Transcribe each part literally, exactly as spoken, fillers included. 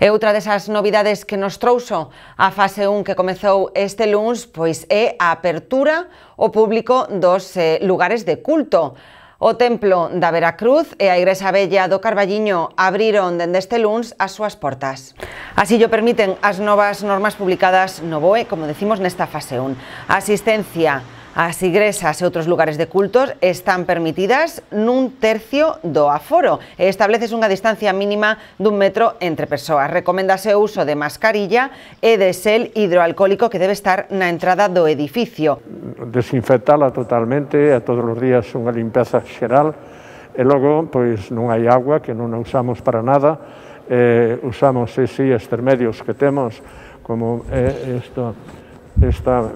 E outra desas novidades que nos trouxo a fase un que comezou este luns pois é a apertura ao público dos eh, lugares de culto. O Templo da Veracruz e a Igrexa Vella do Carballiño abriron dende este luns as súas portas. Así llo permiten as novas normas publicadas no B O E, como decimos nesta fase un. A asistencia ás igrexas e outros lugares de cultos están permitidas nun tercio do aforo e estableces unha distancia mínima dun metro entre persoas. Recoméndase o uso de mascarilla e de xel hidroalcohólico que debe estar na entrada do edificio. Desinfectala totalmente, a todos os días unha limpeza xeral e logo pois non hai agua que non a usamos para nada, eh, usamos ese estes medios que temos como eh, isto esta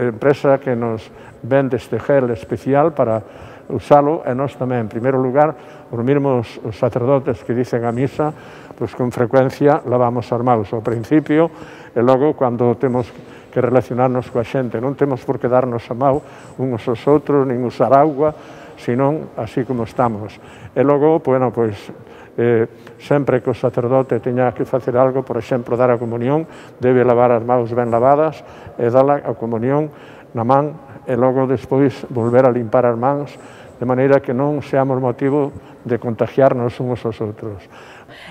empresa que nos vende este gel especial para usalo e nós tamén, en primeiro lugar, os mesmos os sacerdotes que dicen a misa, pois con frecuencia lavamos as mãos ao principio e logo cando temos que relacionarnos coa xente, non temos por que darnos a mão uns aos outros, nin usar auga, senón así como estamos. E logo, bueno, pois, Eh, sempre que o sacerdote teña que facer algo, por exemplo, dar a comunión, debe lavar as mãos ben lavadas e dar a comunión na man e logo despois volver a limpar as mãos de maneira que non seamos motivo de contagiarnos uns aos outros.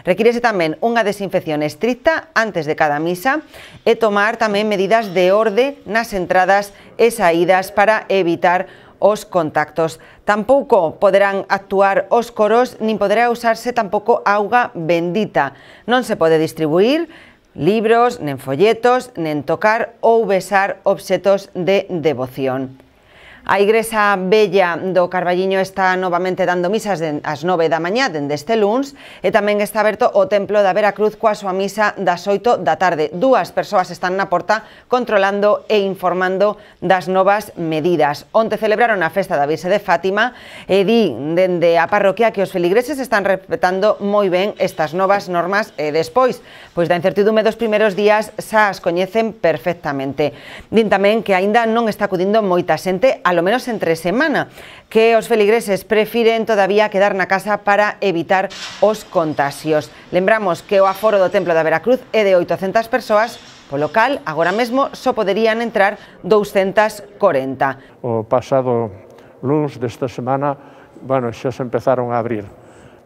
Requírese tamén unha desinfección estricta antes de cada misa e tomar tamén medidas de orde nas entradas e saídas para evitar os contactos. Tampouco poderán actuar os coros, nin poderá usarse tampouco auga bendita. Non se pode distribuir libros, nen folletos, nen tocar ou besar obxetos de devoción. A Igrexa Vella do Carballiño está novamente dando misas ás nove da mañá dende este luns e tamén está aberto o Templo da Veracruz coa súa misa das oito da tarde. Dúas persoas están na porta controlando e informando das novas medidas. Onte celebraron a festa da Virxe de Fátima e di dende a parroquia que os feligreses están respetando moi ben estas novas normas e despois, pois da incertidume dos primeiros días xa as coñecen perfectamente. Din tamén que aínda non está acudindo moita xente a lo menos entre semana, que os feligreses prefiren todavía quedar na casa para evitar os contagios. Lembramos que o aforo do Templo da Veracruz é de oitocentas persoas, polo cal agora mesmo só poderían entrar douscentas corenta. O pasado luns desta semana, bueno, xa se empezaron a abrir.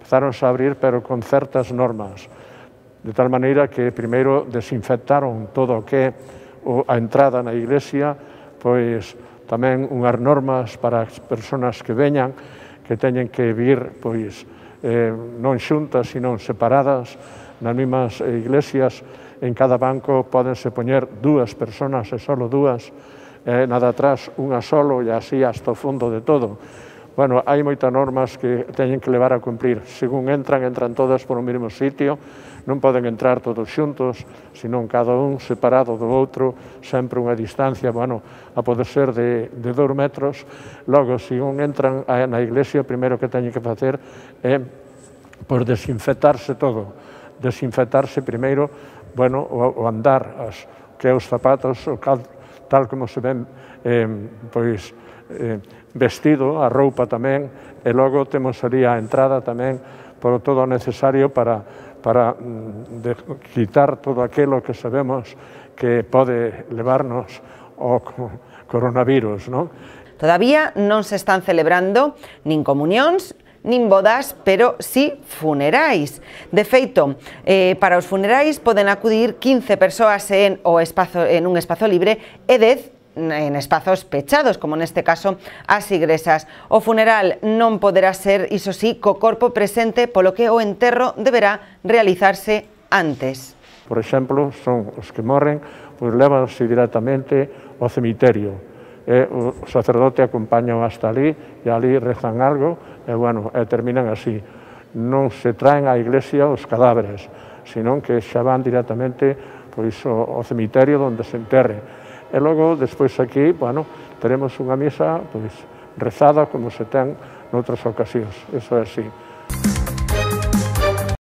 Empezaronse a abrir, pero con certas normas, de tal maneira que primeiro desinfectaron todo o que a entrada na iglesia, pois tamén unhas normas para as persoas que veñan, que teñen que vir pois, eh, non xuntas, sino separadas. Nas mesmas iglesias, en cada banco pódense poñer dúas persoas e solo dúas, eh, nada atrás, unha solo e así hasta o fondo de todo. Bueno, hai moitas normas que teñen que levar a cumprir. Según entran, entran todas por o mesmo sitio, non poden entrar todos xuntos, senón cada un separado do outro, sempre unha distancia, bueno, a poder ser de, de dous metros. Logo, se un entran na iglesia, o primeiro que teñen que facer é por desinfectarse todo. Desinfectarse primeiro, bueno, o, o andar, as, que é os zapatos, o cal, tal como se ven, eh, pois, eh, vestido, a roupa tamén, e logo temos ali a entrada tamén por todo o necesario para para de, quitar todo aquilo que sabemos que pode levarnos ao coronavirus, non? Todavía non se están celebrando nin comunións, nin bodas, pero sí funerais. De feito, eh, para os funerais poden acudir quince persoas en, o espazo, en un espazo libre e dez en espazos pechados, como neste caso as igrexas. O funeral non poderá ser, iso sí, co corpo presente, polo que o enterro deberá realizarse antes. Por exemplo, son os que morren, pois levanse directamente ao cemiterio. E o sacerdote acompaña hasta ali, e ali rezan algo, e, bueno, e terminan así. Non se traen á iglesia os cadáveres, senón que xa van directamente pois, ao cemiterio onde se enterre. E logo, despois aquí, bueno, teremos unha misa pois, rezada como se ten noutras ocasións. Eso é así.